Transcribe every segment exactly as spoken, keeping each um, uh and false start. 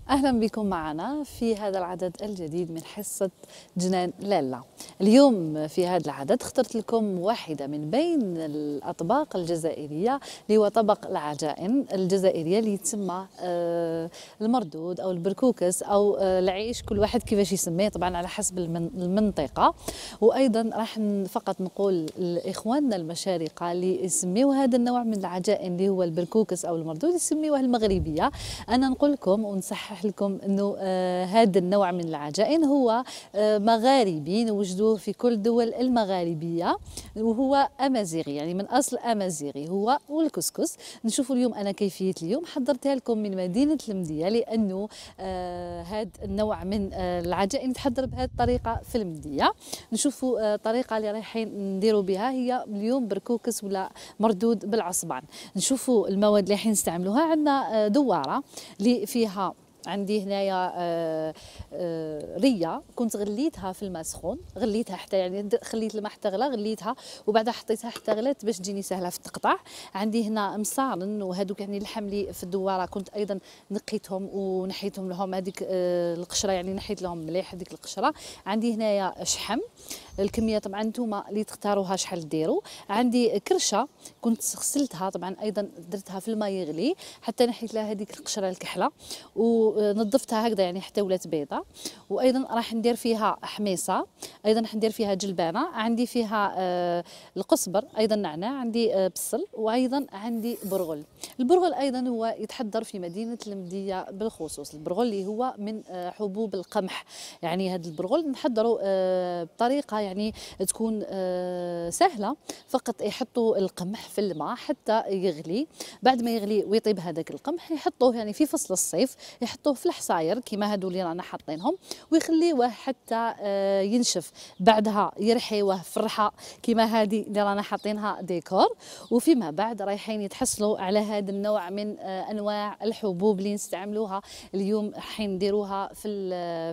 أهلا بكم معنا في هذا العدد الجديد من حصة جنان لالا. اليوم في هذا العدد اخترت لكم واحدة من بين الأطباق الجزائرية اللي هو طبق العجائن الجزائرية اللي يتسمى آه المردود أو البركوكس أو آه العيش، كل واحد كيفاش يسميه طبعا على حسب المنطقة. وأيضا راح فقط نقول لإخواننا المشارقة اللي يسميوا هذا النوع من العجائن اللي هو البركوكس أو المردود يسميوه المغربية. أنا نقول لكم ونصحح لكم انه آه هذا النوع من العجائن هو آه مغاربي، نوجدوه في كل الدول المغاربيه، وهو امازيغي يعني من اصل امازيغي هو والكسكس. نشوفوا اليوم انا كيفيه اليوم حضرتها لكم من مدينه المديه، لانه آه هذا النوع من آه العجائن يتحضر بهذه الطريقه في المديه. نشوفوا الطريقه آه اللي رايحين نديروا بها هي اليوم بركوكس ولا مردود بالعصبان. نشوفوا المواد اللي رايحين نستعملوها. عندنا آه دواره اللي فيها عندي هنايا آه آه ريه كنت غليتها في الماء سخون، غليتها حتى يعني خليت الماء حتى غلا، غليتها وبعدها حطيتها حتى غلات باش تجيني سهله في التقطاع. عندي هنا مصارن وهذوك يعني اللحم اللي في الدواره كنت ايضا نقيتهم ونحيتهم لهم هذيك آه القشره، يعني نحيت لهم مليح هذيك القشره. عندي هنايا شحم، الكميه طبعا نتوما اللي تختاروها شحال ديروا. عندي كرشه كنت غسلتها طبعا ايضا درتها في الماء يغلي حتى نحيت لها هذيك القشره الكحله ونظفتها هكذا يعني حتى ولات بيضه. وايضا راح ندير فيها حميصه، ايضا راح ندير فيها جلبانه، عندي فيها آه القزبر، ايضا نعناع، عندي آه بصل، وايضا عندي برغل. البرغل ايضا هو يتحضر في مدينه المديه بالخصوص، البرغل اللي هو من آه حبوب القمح. يعني هذا البرغل نحضره آه بطريقه يعني تكون آه سهله، فقط يحطوا القمح في الماء حتى يغلي. بعد ما يغلي ويطيب هذاك القمح يحطوه يعني في فصل الصيف يحطوه في الحصاير كيما هادو اللي رانا حاطينهم ويخليوه حتى آه ينشف. بعدها يرحيوه في الرحى كيما هذه اللي رانا حاطينها ديكور. وفيما بعد رايحين يتحصلوا على هذا النوع من آه انواع الحبوب اللي نستعملوها اليوم، حين نديروها في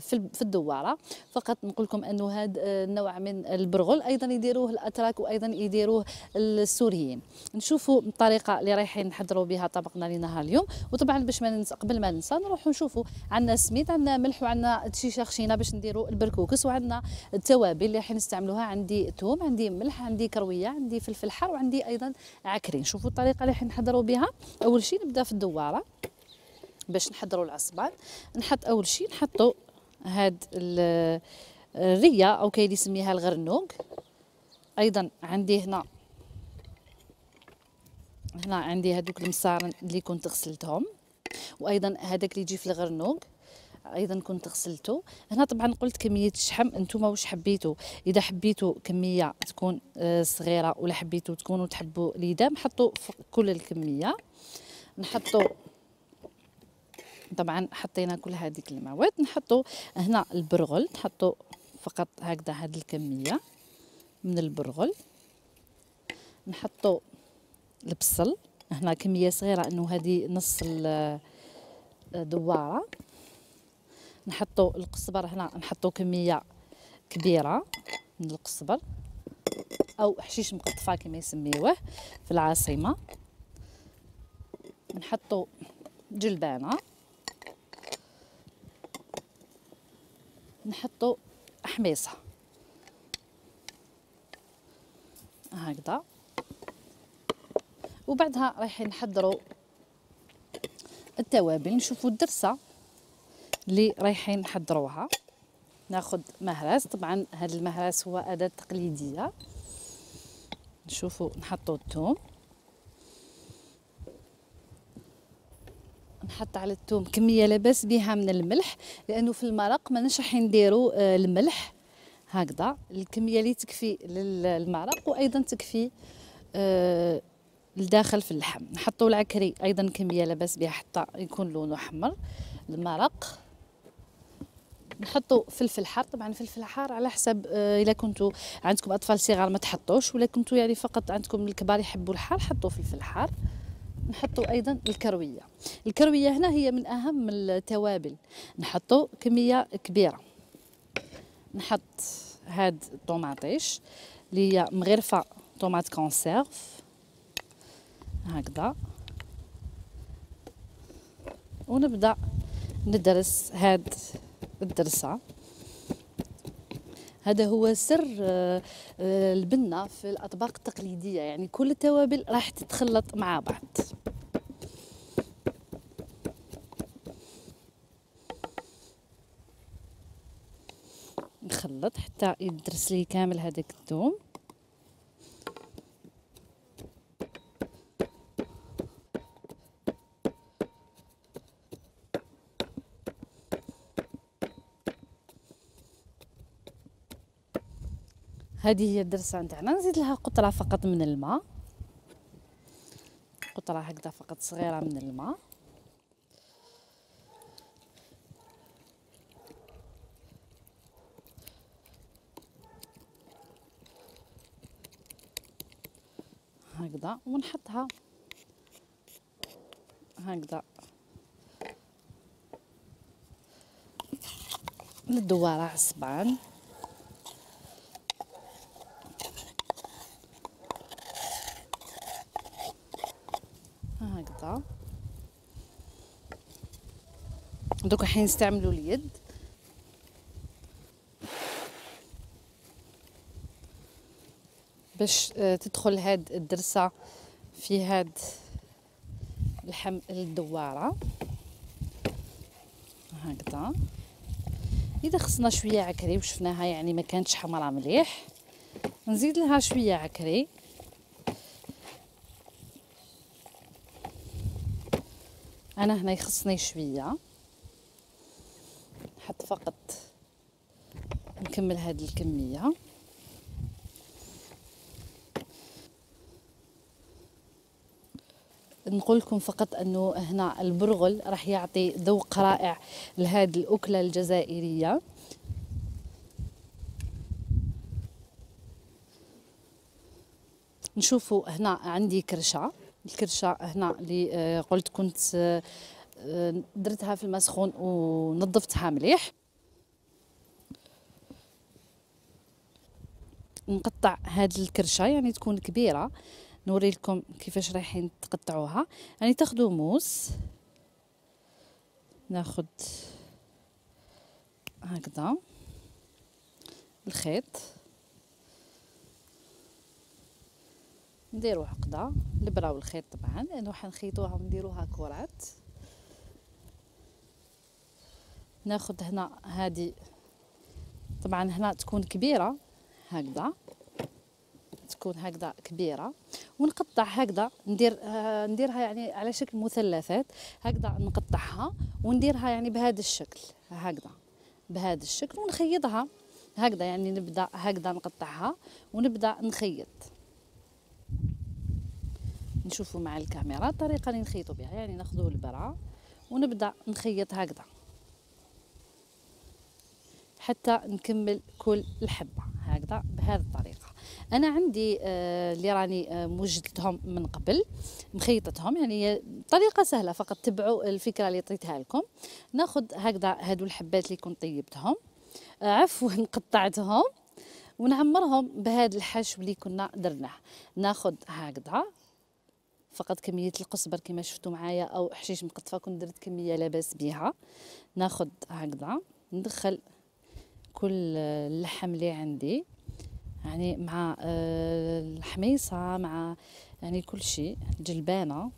في في الدواره. فقط نقول لكم انه هذا النوع من البرغل ايضا يديروه الاتراك وايضا يديروه السوريين. نشوفوا الطريقه اللي رايحين نحضروا بها طبقنا لنهار اليوم. وطبعا باش ما ننسى قبل ما ننسى نروحوا نشوفوا عندنا سميد، عندنا ملح، وعندنا شيشه خشينه باش نديروا البركوكس، وعندنا التوابل اللي راح نستعملوها. عندي ثوم، عندي ملح، عندي كرويه، عندي فلفل حار، وعندي ايضا عكرين. شوفوا الطريقه اللي راح نحضروا بها. اول شيء نبدا في الدواره باش نحضروا العصبان. نحط اول شيء نحطوا هاد الريه او كاين اللي يسميها الغرنوق. ايضا عندي هنا هنا عندي هذوك المصارن اللي كنت غسلتهم، وايضا هذاك اللي يجي في الغرنوق ايضا كنت غسلته. هنا طبعا قلت كميه الشحم انتم واش حبيتوا، اذا حبيتوا كميه تكون صغيره ولا حبيتوا تكونوا تحبوا اليدام حطوا كل الكميه. نحطوا طبعا حطينا كل هذيك المواد. نحطوا هنا البرغل، نحطوا فقط هكذا هذه الكميه من البرغل. نحطوا البصل هنا كميه صغيره انه هذه نص الدواره. نحطوا القزبر هنا نحطوا كميه كبيره من القزبر او حشيش مقطفه كما يسميوه في العاصمه. نحطوا جلبانه، نحطوا حميصه هكذا. وبعدها رايحين نحضروا التوابل. نشوفوا الدرسه اللي رايحين نحضروها. ناخذ مهرس، طبعا هذا المهرس هو اداه تقليديه. نشوفوا نحطوا الثوم، نحط على الثوم كميه لاباس بها من الملح، لانه في المرق ما نش راح نديروا آه الملح هكذا، الكميه اللي تكفي للمرق وايضا تكفي آه الداخل في اللحم. نحطوا العكري ايضا كميه لاباس بها حتى يكون لونه احمر المرق. نحطوا فلفل حار، طبعا فلفل حار على حسب آه الا كنتوا عندكم اطفال صغار ما تحطوش، ولا كنتوا يعني فقط عندكم الكبار يحبوا الحار حطوا فلفل حار. نحطوا ايضا الكرويه، الكرويه هنا هي من اهم التوابل. نحطوا كميه كبيره. نحط هاد الطوماطيش اللي هي مغرفه طوماط كونسيرف هكذا، ونبدا ندرس هاد الدرسة. هذا هو سر البنة في الأطباق التقليدية، يعني كل التوابل راح تتخلط مع بعض. نخلط حتى يدرس لي كامل هذاك الثوم. هذه هي الدرسة نتاعنا. نزيد لها قطرة فقط من الماء، قطرة هكذا فقط صغيرة من الماء. هكذا ونحطها هكذا ندوها عصبان. هكذا دوك حين نستعملوا اليد باش تدخل هاد الدرسة في هاد الحم الدوارة. هكذا اذا خصنا شويه عكري وشفناها يعني ما كانتش حمرا مليح، نزيد لها شويه عكري. انا هنا يخصني شويه، نحط فقط نكمل هذه الكميه. نقول لكم فقط انه هنا البرغل راح يعطي ذوق رائع لهذه الاكله الجزائريه. نشوفوا هنا عندي كرشه، الكرشه هنا اللي قلت كنت درتها في الماء سخون ونظفتها مليح. نقطع هذه الكرشه يعني تكون كبيره، نوري لكم كيفاش رايحين تقطعوها. يعني تاخذوا موس، ناخذ هكذا الخيط، نديرو عقده الابره والخيط طبعا لانه حنخيطوها ونديروها كرات. ناخذ هنا هذه طبعا هنا تكون كبيره هكذا، تكون هكذا كبيره، ونقطع هكذا ندير آه نديرها يعني على شكل مثلثات هكذا، نقطعها ونديرها يعني بهذا الشكل هكذا، بهذا الشكل ونخيطها هكذا. يعني نبدا هكذا نقطعها ونبدا نخيط. نشوفوا مع الكاميرا الطريقه اللي نخيطوا بها، يعني ناخذوا البرة ونبدا نخيط هكذا حتى نكمل كل الحبه هكذا بهذه الطريقه. انا عندي آه اللي راني آه موجدتهم من قبل مخيطتهم، يعني طريقه سهله، فقط تبعوا الفكره اللي عطيتها لكم. ناخذ هكذا هادو الحبات اللي كنت طيبتهم آه عفوا قطعتهم ونعمرهم بهذا الحشو اللي كنا درناه. ناخذ هكذا فقط كميه القزبر كما شفتوا معايا او حشيش مقطفه، كنت درت كميه لاباس بها. ناخذ هكذا ندخل كل اللحم اللي عندي يعني مع الحميصه مع يعني كل شيء جلبانه،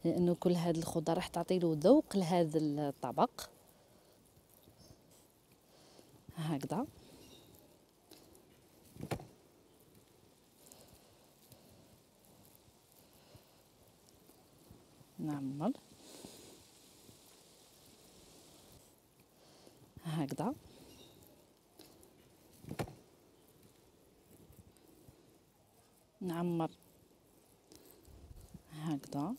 لانه كل هذه الخضر راح تعطي له ذوق لهذا الطبق هكذا. نعمل هكذا نعمر هكذا.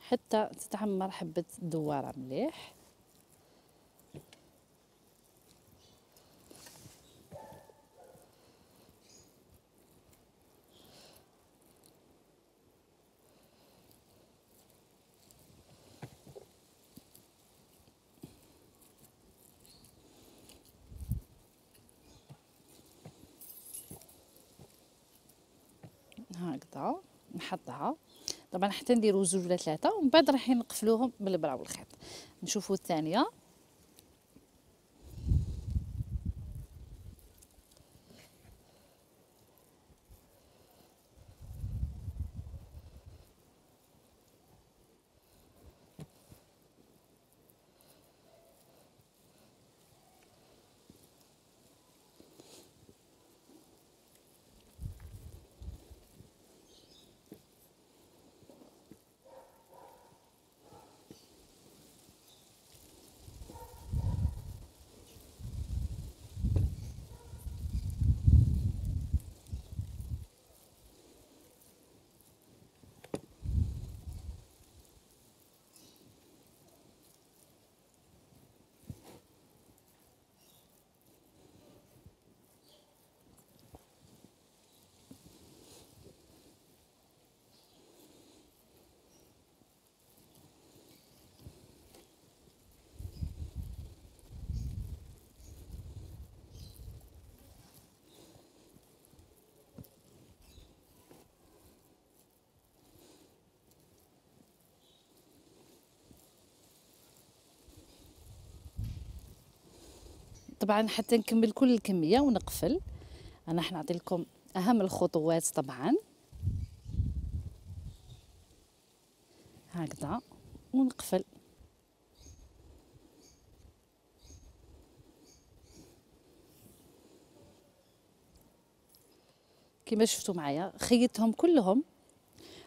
حتى تتعمر حبة الدوارة مليح. هكذا نحطها طبعا حتى نديرو زوج ولا ثلاثه ومن بعد راح نقفلوهم بالبرا والخيط. نشوفوا الثانيه. طبعا حتى نكمل كل الكميه ونقفل. انا حنعطي لكم اهم الخطوات طبعا. هكذا ونقفل. كما شفتوا معايا خيطتهم كلهم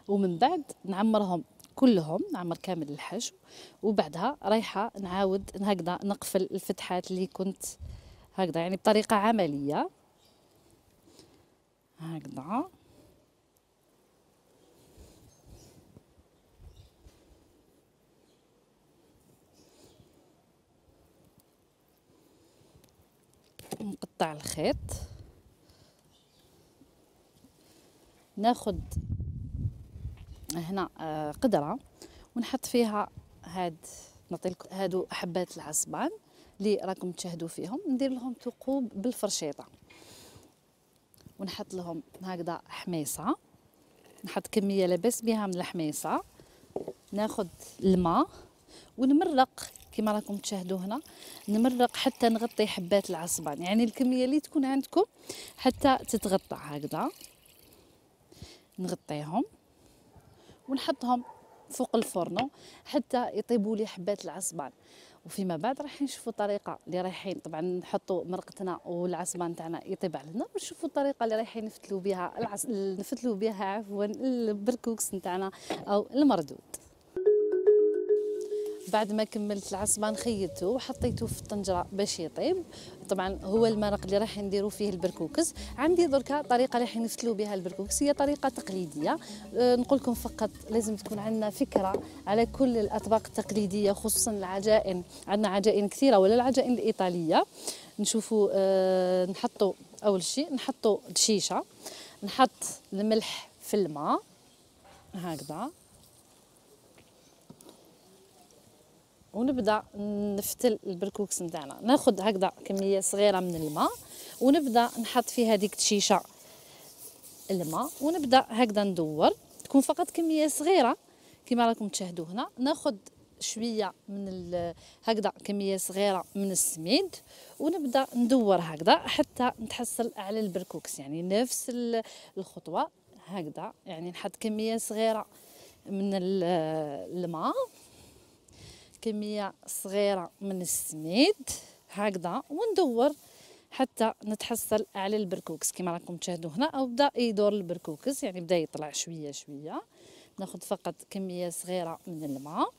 ومن بعد نعمرهم كلهم، نعمر كامل الحشو وبعدها رايحه نعاود هكذا نقفل الفتحات اللي كنت هكذا، يعني بطريقه عمليه هكذا. نقطع الخيط، ناخد هنا قدرة ونحط فيها هاد، نعطيلكم هادو حبات العصبان اللي راكم تشاهدوا فيهم، ندير لهم ثقوب بالفرشيطه ونحط لهم هكذا حميصه، نحط كميه لاباس بها من الحميصه، ناخد الماء ونمرق كما راكم تشاهدوا هنا، نمرق حتى نغطي حبات العصبان، يعني الكميه اللي تكون عندكم حتى تتغطى هكذا. نغطيهم ونحطهم فوق الفرن حتى يطيبوا لي حبات العصبان، وفيما بعد راح نشوفوا الطريقه اللي رايحين طبعا نحطوا مرقتنا والعصبان تاعنا يطيب علينا، ونشوفوا الطريقه اللي رايحين نفتلوا بها العص... نفتلوا بها عفوا البركوكس نتاعنا او المردود. بعد ما كملت العصبان خيطته وحطيته في الطنجره باش يطيب. طبعا هو المرق اللي راح نديروا فيه البركوكس. عندي دركا طريقه اللي راح نفتلوا بها البركوكس، هي طريقه تقليديه. أه نقول لكم فقط لازم تكون عندنا فكره على كل الاطباق التقليديه، خصوصا العجائن، عندنا عجائن كثيره ولا العجائن الايطاليه. نشوفوا أه نحطوا اول شيء نحطوا دشيشه، نحط الملح في الماء هكذا ونبدا نفتل البركوكس نتاعنا. ناخذ هكذا كميه صغيره من الماء ونبدا نحط في هذيك الشيشه الماء ونبدا هكذا ندور، تكون فقط كميه صغيره كما راكم تشاهدوا هنا. ناخذ شويه من هكذا كميه صغيره من السميد ونبدا ندور هكذا حتى نتحصل على البركوكس، يعني نفس الخطوه هكذا، يعني نحط كميه صغيره من الماء، كمية صغيرة من السميد هكذا، وندور حتى نتحصل على البركوكس كما راكم تشاهدوا هنا. او بدا يدور البركوكس، يعني بدا يطلع شوية شوية. ناخذ فقط كمية صغيرة من الماء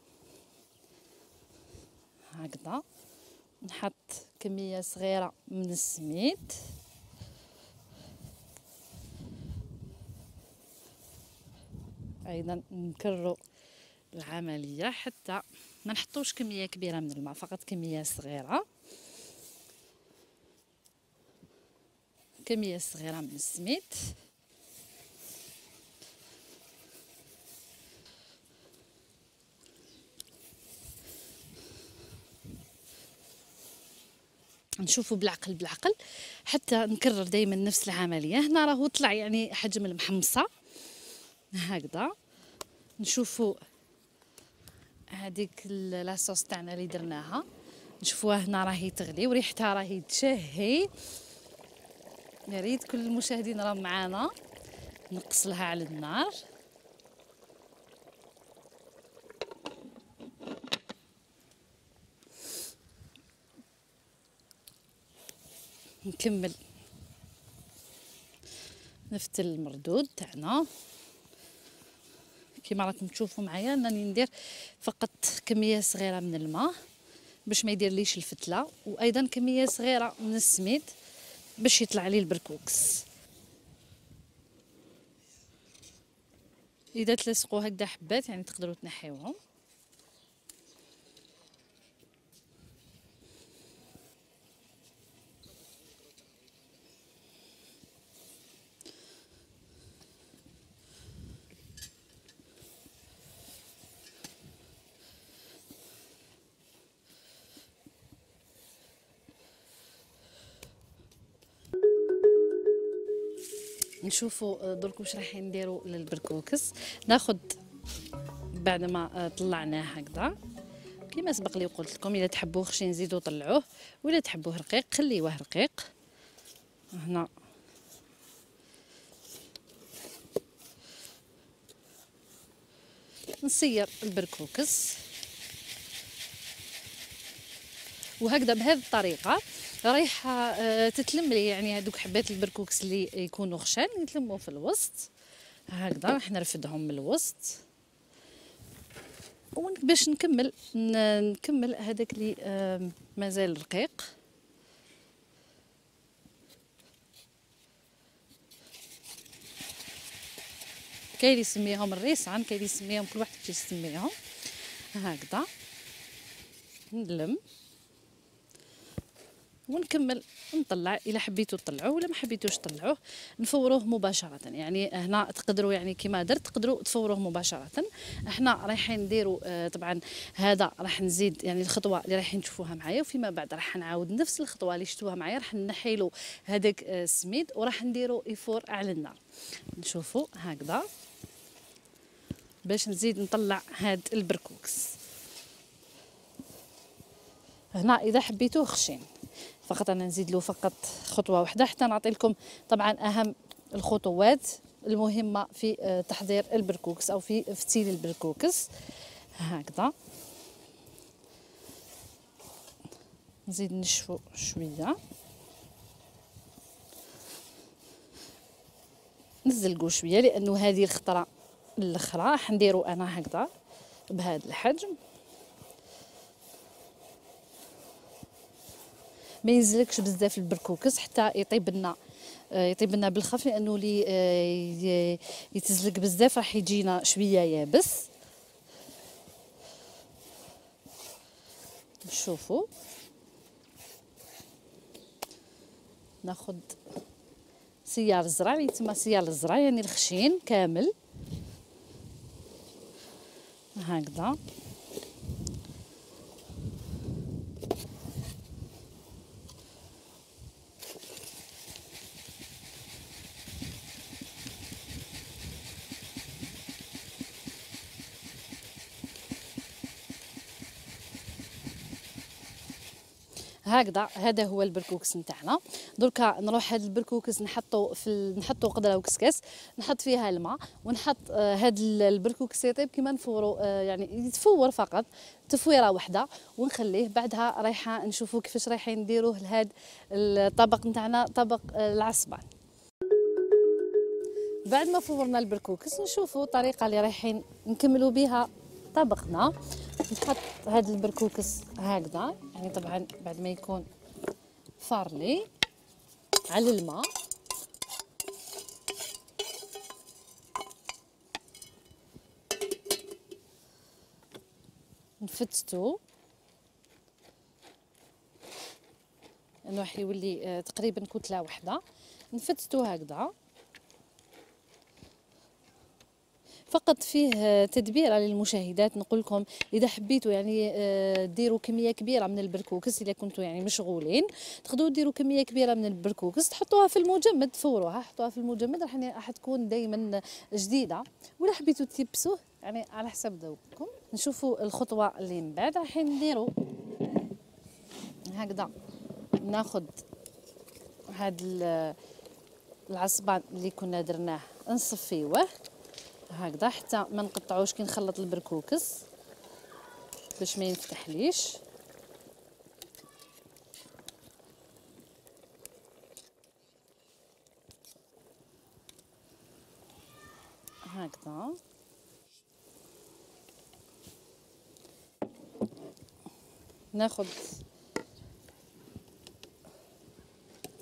هكذا، نحط كمية صغيرة من السميد ايضا، نكرروا العملية حتى ما نحطوش كميه كبيره من الماء، فقط كميه صغيره، كميه صغيره من السميد. نشوفوا بالعقل بالعقل حتى نكرر دائما نفس العمليه. هنا راهو طلع يعني حجم المحمصه هكذا. نشوفوا هذيك لاصوص تاعنا اللي درناها، نشوفوها هنا راهي تغلي وريحتها راهي تشهي. يا ريت كل المشاهدين راهم معانا. نقص لها على النار. نكمل نفتل المردود تاعنا كيما راكم تشوفوا معايا. راني ندير فقط كميه صغيره من الماء باش ما يديرليش الفتله، وايضا كميه صغيره من السميد باش يطلع لي البركوكس. اذا تلصقوا هكذا حبات يعني تقدروا تنحيوهم. نشوفوا درك واش راح نديروا للبركوكس. ناخذ بعد ما طلعناه هكذا كيما سبق لي قلت لكم، اذا تحبوه خشين زيدوا طلعوه، ولا تحبوه رقيق خليوه رقيق. هنا نصير البركوكس وهكذا بهذه الطريقه رايحه تتلم لي يعني هذوك حبات البركوكس اللي يكونوا خشان يتلموا في الوسط. هكذا راح نرفدهم من الوسط باش نكمل نكمل هذاك اللي مازال رقيق. كاين اللي يسميهم الريسان، كاين اللي يسميهم كل واحد كيفاش يسميهم. هكذا نلم ونكمل نطلع. الا حبيتو تطلعوه ولا ما حبيتوش تطلعوه نفوروه مباشره. يعني هنا تقدروا يعني كيما درت تقدروا تفوروه مباشره. احنا رايحين نديروا آه طبعا هذا راح نزيد يعني الخطوه اللي رايحين تشوفوها معايا، وفيما بعد راح نعاود نفس الخطوه اللي شفتوها معايا. راح نحيلو هذاك آه السميد وراح نديروا يفور على النار. نشوفوا هكذا باش نزيد نطلع هاد البركوكس. هنا اذا حبيتوه خشين فقط انا نزيد له فقط خطوه واحده حتى نعطي لكم طبعا اهم الخطوات المهمه في تحضير البركوكس او في فتيل البركوكس. هكذا نزيد نشفو شويه، نزلقوا شويه لانه هذه الخطره الاخرى راح نديرو انا هكذا بهذا الحجم. ما ينزلكش بزاف البركوكس حتى يطيب لنا يطيب لنا بالخف، لانه لي يتزلق بزاف راح يجينا شويه يابس. شوفوا ناخذ سيار الزرع اللي تما سيار الزرع يعني الخشين كامل هكذا. هكذا هذا هو البركوكس نتاعنا. دركا نروح هذا البركوكس نحطو في ال... نحطو قدره وكسكاس نحط فيها الماء ونحط آه هذا البركوكس يطيب كيما نفورو آه يعني يتفور فقط تفويره واحده ونخليه. بعدها رايحه نشوفوا كيفاش رايحين نديروه لهذا الطبق نتاعنا طبق آه العصبان. بعد ما فورنا البركوكس نشوفوا الطريقه اللي رايحين نكملوا بها طبقنا. نحط هذا البركوكس هكذا يعني طبعا بعد ما يكون فارلي على الماء. نفتتو انه راح يولي تقريبا كتله واحده. نفتتو هكذا. فقط فيه تدبيره للمشاهدات، نقول لكم اذا حبيتوا يعني ديروا كميه كبيره من البركوكس، اذا كنتوا يعني مشغولين تقدروا ديروا كميه كبيره من البركوكس تحطوها في المجمد، تفوروها حطوها في المجمد راح راح تكون دائما جديده. ولا حبيتوا تيبسوه يعني على حسب ذوقكم. نشوفوا الخطوه اللي من بعد. راح نديروا هكذا، ناخذ هذا العصبان اللي كنا درناه نصفيوه هكذا حتى ما نقطعوش كي نخلط البركوكس باش ما ينفتحليش. هكذا ناخذ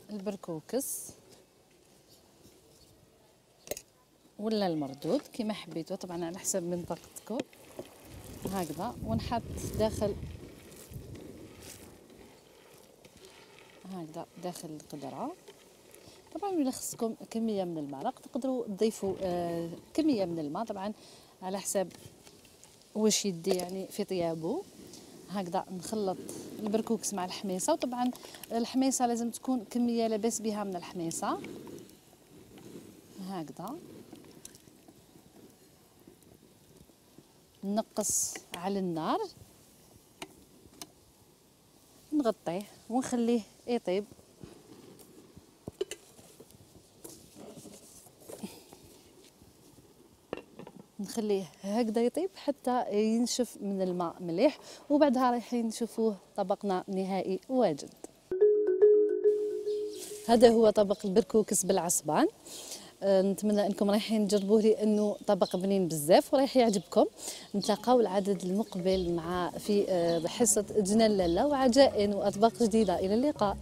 البركوكس ولا المردود كما حبيتوا، طبعا على حسب منطقتكم هكذا، ونحط داخل هكذا داخل القدره. طبعا الا خصكم كميه من المرق تقدروا تضيفوا آه كميه من الماء، طبعا على حسب واش يدي يعني في طيابه. هكذا نخلط البركوكس مع الحميصه، وطبعا الحميصه لازم تكون كميه لاباس بها من الحميصه هكذا. نقص على النار، نغطيه ونخليه يطيب. نخليه هكذا يطيب حتى ينشف من الماء مليح، وبعدها رايحين نشوفوه طبقنا نهائي واجد. هذا هو طبق البركوكس بالعصبان. أه نتمنى انكم رايحين تجربوه لانه طبق بنين بزاف ورايح يعجبكم. نتلاقاو العدد المقبل مع في أه حصه جنان لاله وعجائن واطباق جديده. الى اللقاء.